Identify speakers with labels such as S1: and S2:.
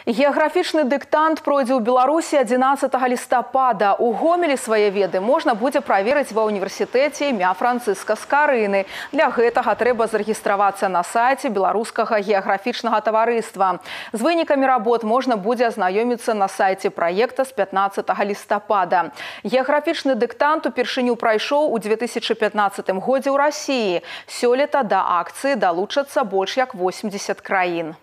S1: Геаграфічны дыктант пройдзе ў Беларусі 11 лістапада. У Гомелі свае веды можна будзе праверыць ва ўніверсітэце імя Францыска Скарыны. Для гэтага трэба зарэгістравацца на сайце Беларускага геаграфічнага таварыства. З вынікамі работ можна будзе азнаёміцца на сайце праекта з 15 лістапада. Геаграфічны дыктант упершыню прайшоў у 2015 годзе ў Расіі. Сёлета да акцыі далучацца больш як 80 краін.